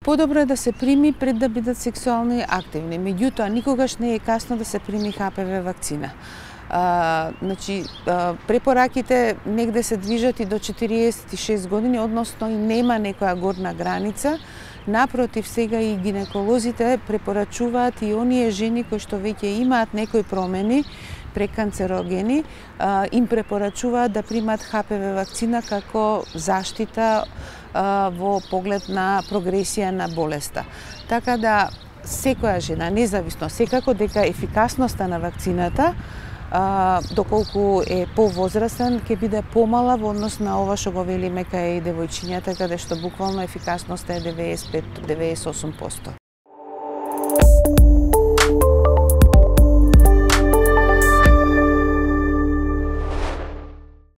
Подобро е да се прими пред да бидат сексуални активни. Меѓутоа, никогаш не е касно да се прими ХПВ вакцина. Препораките негде се движат и до 46 години, односно и нема некоја горна граница. Напротив, сега и гинеколозите препорачуваат и оние жени кои што веќе имаат некои промени преканцерогени, им препорачуваат да примат ХПВ вакцина како заштита во поглед на прогресија на болеста. Така да секоја жена, независно, секако дека ефикасноста на вакцината доколку е повозрастен, ќе биде помала во однос на ова што го велиме кај девојчињата, каде што буквално ефикасноста е 95-98%.